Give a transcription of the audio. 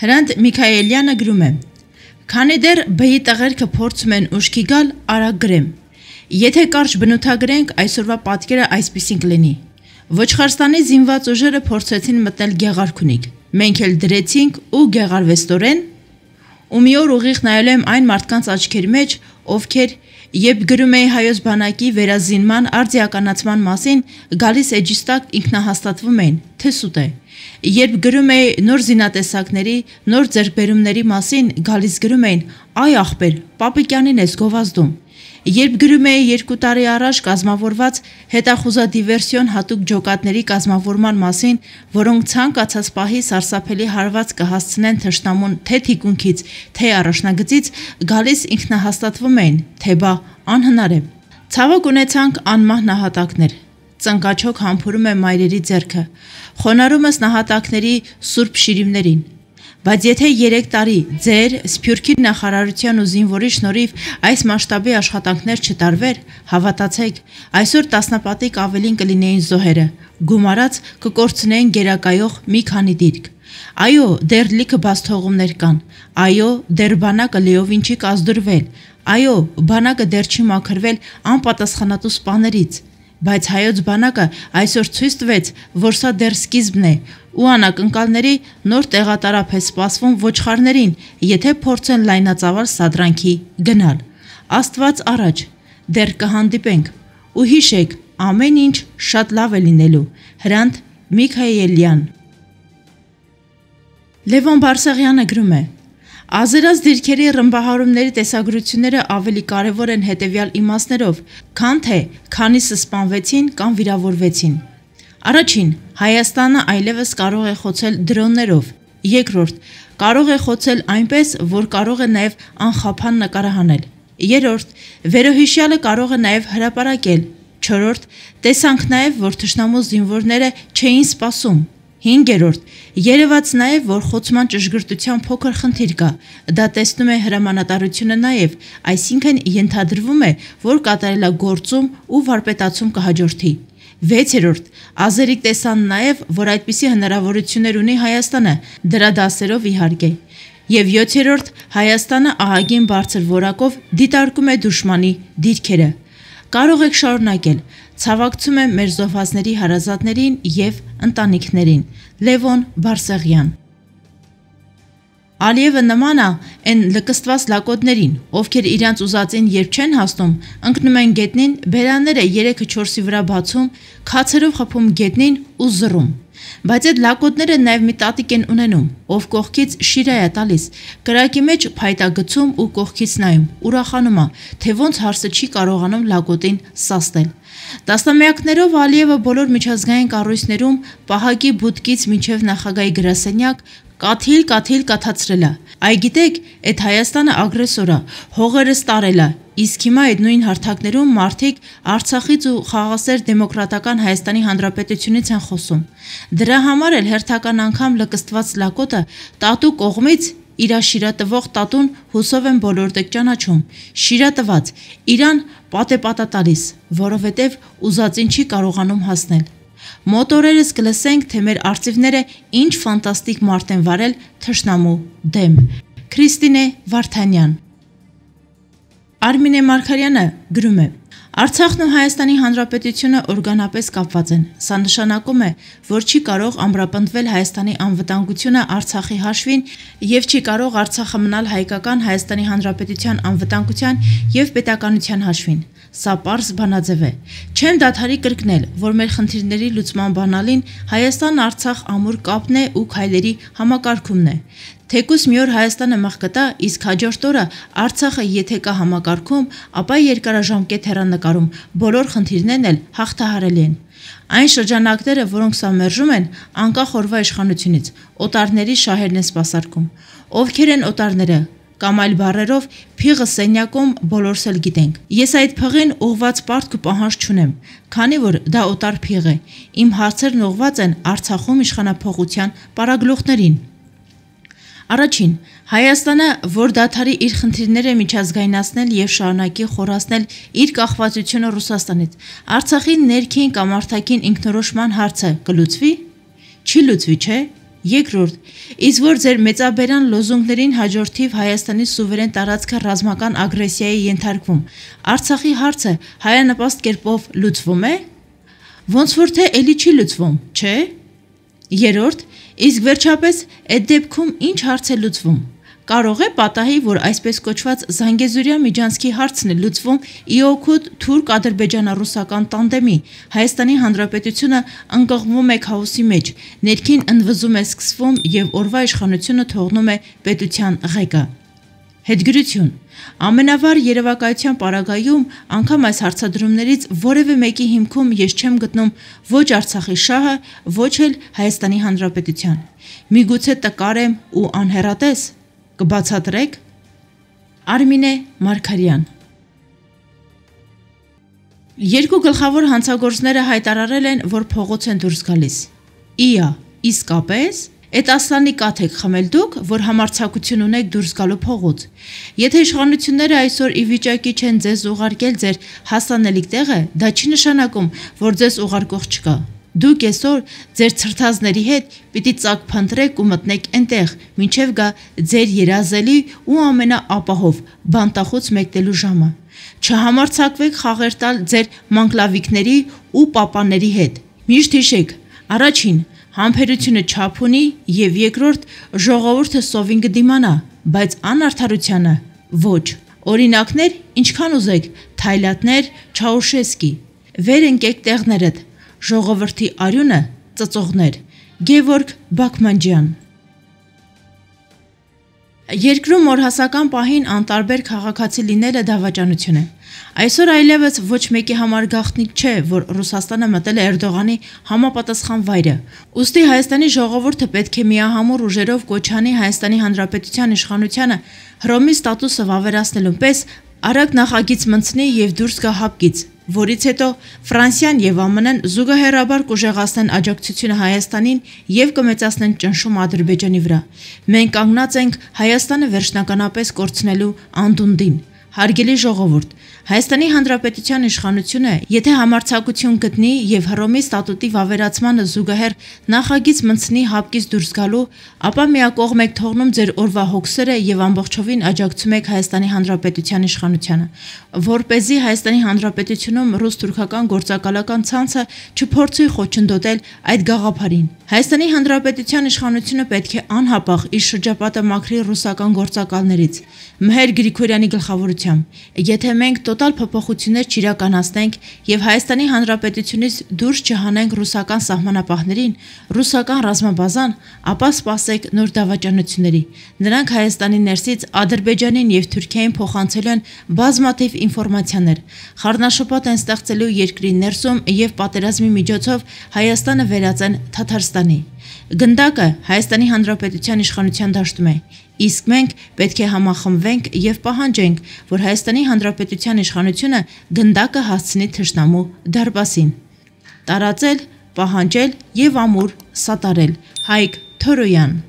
Հրանտ Միքայելյանը գրում է. «Քանի դեռ բեի տղերքը փորձում են ուշքի գալ, արագ գրեմ։ Եթե կարճ բնութագրենք, այսօրվա պատկերը այսպիսին կլինի. Ոչխարստանի զինված ուժերը փորձեցին մտնել Գեղարքունիք։ Մենք էլ դրեցինք ու գեղարվեստորեն ու մի օր ուղիղ նայել եմ այն մարդկանց աչքերի մեջ, ովքեր երբ գրում էի հայոց բանակի վերազինման արձիականացման մասին, գալիս էջիս տակ ինքնահաստատվում էին, թե սուտ է։ Երբ գրում էի նոր զինատեսակների, նոր ձեռքբերումների մասին, գալիս գրում էին՝ «Այ ախպեր, Պապիկյանին ես գովազդում»։ Երբ գրում էի 2 տարի առաջ կազմավորված հետախուզադիվերսիոն հատուկ ջոկատների կազմավորման մասին, որոնք ցանկացած պահի սարսափելի հարված կհասցնեն թշնամուն թե թիկունքից, թե առաջնագծից, գալիս ինքնահաստատվում էին, թե բա անհնար է։ Ցավոք ունեցանք անմահ նահատակներ։ Ծնկաչոք համբուրում է մայրերի ձեռքը, խոնարհում ես նահատակների սուրբ շիրիմներին։ Բայց եթե 3 տարի ձեր Սփյուռքի նախարարության ու զինվորի շնորհիվ այս մասշտաբի աշխատանքներ չտարվեր, հավատացեք, այսօր տասնապատիկ ավելին կլինեին զոհերը, գումարած կկորցնեին գերակայող մի քանի դիրք։ Այո, դեռ լիքը բացթողումներ կան։ Այո, դեռ բանակը լիովին չի կազդուրվել։ Այո, բանակը դեռ չի մաքրվել անպատասխանատու սպաներից։ Բայց հայոց բանակը այսօր ցույց տվեց, որ սա դեռ սկիզբն է, ու անակնկալների նոր տեղատարափ է սպասվում ոչխարներին, եթե փորձեն լայնածավալ սադրանքի գնալ։ Աստված առաջ, դեռ կհանդիպենք, ու հիշեք, ամեն ինչ շատ լավ է լինելու։ Հրանտ Միքայելյան։ Լևոն Բարսեղյանը գրում է. «Ազերած դիրքերի ռմբահարումների տեսագրությունները ավելի կարևոր են հետևյալ իմաստներով, քան թե քանիսը սպանվեցին կամ վիրավորվեցին։ Առաջին, Հայաստանը այլևս կարող է խոցել դրոններով։ Երկրորդ, կարող է խոցել այնպես, որ կարող է նաև անխափան նկարահանել։ Երրորդ, վերոհիշյալը կարող է նաև հրապարակել։ Չորրորդ, տեսանք նաև, որ թշնամու զինվորները չէին սպասում։ Հինգերորդ, երևաց նաև, որ խոցման ճշգրտության փոքր խնդիր կա, դա տեսնում է հրամանատարությունը նաև, այսինքն ենթադրվում է, որ կատարելագործում ու վարպետացում կհաջորդի։ Վեցերորդ, ազերիկ տեսան նաև, որ այդպիսի հնարավորություններ ունի Հայաստանը, դրա դասերով իհարկե։ Եվ 7-րդ, Հայաստանը ահագին բարձր որակով դիտարկում է դուշմանի դիրքերը։ Կարող եք շարունակել։ Ցավակցում եմ մեր զոհվածների հարազատներին և ընտանիքներին։ Լևոն Բարսեղյան։ Ալիևը նման է այն լկստված լակոտներին, ովքեր իրանց ուզածին երբ չեն հասնում, ընկնում են գետնին, բերանները 3-4-ի վրա բացում, քացերով խփում գետնին ու զռում։ Բայց այդ լակոտները նաև մի տատիկ են ունենում, ով կողքից շիրա է տալիս, կրակի մեջ փայտագցում ու կողքից նայում, ուրախանում է, թե ոնց հարսը չի կարողանում լակոտին սաստել։ Տասնամյակներով Ալիևը բոլոր միջազգային կառույցներում պահակի բուդկից մինչև նախագահի գրասենյակ կաթիլ կաթացրել է։ Այ գիտեք, այդ Հայաստանը ագրեսոր է, հողերս տարել է, իսկ հիմա այդ նույն հարթակներում մարդիկ Արցախից ու խաղաղասեր դեմոկրատական Հայաստանի Հանրապետությունից են խոսում։ Դրա համար էլ հերթական անգամ լկստված լակոտը տատու կողմից իրա շիրատվող տատուն հուսով են բոլոր տեղ ճանաչում։ Շիրատված, իրան պատեպատա տալիս, որովհետև ուզածին չի կարողանում հասնել։ Մոտորերս կլսենք, թե մեր արծիվները ինչ ֆանտաստիկ մարդ են վարել թշնամու դեմ։ Քրիստինե Վարդանյան։ Արմինե Մարգարյանը գրում է. Արցախն ու Հայաստանի Հանրապետությունը օրգանապես կապված են։ Սա նշանակում է, որ չի կարող ամրապնդվել Հայաստանի անվտանգությունը Արցախի հաշվին և չի կարող Արցախը մնալ հայկական Հայաստանի Հանրապետության անվտանգության և պետականության հաշվին։ Սա պարզ բանաձև է։ Չեմ դադարի կրկնել, որ մեր խնդիրների լուծման բանալին Հայաստան-Արցախ ամուր կապն է ու քայլերի համակարգումն է։ Թեկուզ մի օր Հայաստանը մղկտա, իսկ հաջորդ օրը Արցախը եթե կա համակարգում, ապա երկարաժամկետ հեռանկարում բոլոր խնդիրներն էլ հաղթահարելի են։ Այն շրջանակները, որոնք սա մերժում են, անկախ օրվա իշխանությունից, օտարների շահերն են սպասարկում։ Ովքեր են օտարները, կամ այլ բառերով, փիղը սենյակում բոլորս էլ գիտենք։ Ես այդ փղին ուղված պարտք ու պահանջ չունեմ, քանի որ դա օտար փիղ է։ Իմ հարցերն ուղված են Արցախում իշխանափոխության պարագլուխներին։ Առաջին, Հայաստանը, որ դադարի իր խնդիրները միջազգայնացնել և շարունակի խորացնել իր կախվածությունը Ռուսաստանից, Արցախի ներքին կամ արտաքին ինքնորոշման հարցը կլուծվի։ Չի լուծվի, չէ։ Երկրորդ, իսկ որ ձեր մեծաբերան լոզունգներին հաջորդիվ Հայաստանի սուվերեն տարածքը ռազմական ագրեսիայի ենթարկվում, Արցախի հարցը հայանպաստ կերպով լուծվում է։ Ոնց որ թե էլի չի լուծվում, չէ։ Երրորդ, իսկ վերջապես այդ դեպքում ինչ հարց է լուծվում։ Կարող է պատահի, որ այսպես կոչված Զանգեզուրյա միջանցքի հարցն է լուծվում ի օգուտ թուրք-ադրբեջանա-ռուսական տանդեմի, Հայաստանի Հանրապետությունը ընկղմվում է քաոսի մեջ, ներքին ընդվզում է սկսվում եւ օրվա իշխանությունը թողնում է պետության ղեկը։ Հետգրություն. ամենավառ երևակայության պարագայում անգամ այս հարցադրումներից որևէ մեկի հիմքում ես չեմ գտնում ոչ Արցախի շահը, ոչ էլ Հայաստանի Հանրապետության։ Միգուցե տկար եմ ու անհեռատես։ Կբացատրեք։ Արմինե Մարգարյան։ Երկու գլխավոր հանցագործները հայտարարել են, որ փողոց են դուրս գալիս։ Իա, իսկապես, այդ ասլանի կաթ եք խմել դուք, որ համարձակություն ունեք դուրս գալու փողոց։ Եթե իշխանությունները այսօր ի վիճակի չեն ձեզ ուղարկել ձեր հասանելիք տեղը, դա չի նշանակում, որ ձեզ ուղարկող չկա։ Դուք այսօր ձեր ցրտազների հետ պիտի ծակ փնտրեք ու մտնեք այնտեղ, մինչև գա ձեր երազելի ու ամենաապահով բանտախոց մեկնելու ժամը։ Չհամարձակվեք խաղեր տալ ձեր մանկլավիկների ու պապաների հետ։ Միշտ հիշեք, առաջին, համբերությունը չափ ունի եւ երկրորդ, ժողովուրդը սովին կդիմանա, բայց անարդարությանը ոչ։ Օրինակներ ինչքան ուզեք, Թայլատներ, Չաուշեսկի։ Վեր ընկեք տեղներդ։ Ժողովրդի արյունը ծծողներ։ Գևորգ Բաքմանջյան։ Երկրում օրհասական պահին անտարբեր քաղաքացի լինելը դավաճանություն է։ Այսօր այլևս ոչ մեկի համար գաղտնիք չէ, որ Ռուսաստանը մտել է Էրդողանի համապատասխան վայրը։ Ուստի Հայաստանի ժողովուրդը պետք է միահամուռ ուժերով կոչ անի Հայաստանի Հանրապետության իշխանությանը Հռոմի ստատուսը վավերացնելու պես արագ նախագիծ մտցնի եւ դուրս գա հապկից, որից հետո Ֆրանսիան եւ ԱՄՆ-ն զուգահեռաբար կուժեղացնեն աջակցությունը Հայաստանին եւ կմեծացնեն ճնշումը Ադրբեջանի վրա։ Մենք կանգնած ենք Հայաստանը վերջնականապես կորցնելու անդունդին։ Հարգելի ժողովուրդ, Հայաստանի Հանրապետության իշխանությունը, եթե համարձակություն գտնի եւ Հռոմի ստատուտի վավերացմանը զուգահեռ նախագիծ մտցնի հապկից դուրս գալու, ապա միակողմ եք թողնում ձեր օրվա հոգսերը եւ ամբողջովին աջակցում եք Հայաստանի Հանրապետության իշխանությանը, որպեսզի Հայաստանի Հանրապետությունում ռուս-թուրքական գործակալական ցանցը չփորձի խոչընդոտել այդ գաղափարին։ Հայաստանի Հանրապետության իշխանությունը պետք է անհապաղ իր շրջապատը մաքրի ռուսական գործակալներից։ Մհեր Գրիգորյանի գլխավորությամբ, եթե մենք տոտալ փոփոխություններ չիրականացնենք եւ Հայաստանի Հանրապետությունից դուրս չհանենք ռուսական սահմանապահներին, ռուսական ռազմաբազան, ապա սպասեք նոր դավաճանությունների։ Նրանք Հայաստանի ներսից Ադրբեջանին եւ Թուրքիային փոխանցելու են բազմաթիվ ինֆորմացիաներ, խառնաշփոթ են ստեղծելու երկրի ներսում եւ պատերազմի միջոցով Հայաստանը վերածեն Թաթարստանի։ Գնդակը Հայաստանի Հանրապետության իշխանության դաշտում է, իսկ մենք պետք է համախմբվենք եւ պահանջենք, որ Հայաստանի Հանրապետության իշխանությունը գնդակը հասցնի թշնամու դարպասին։ Տարածել, պահանջել եւ ամուր սատարել։ Հայկ Թորոյան։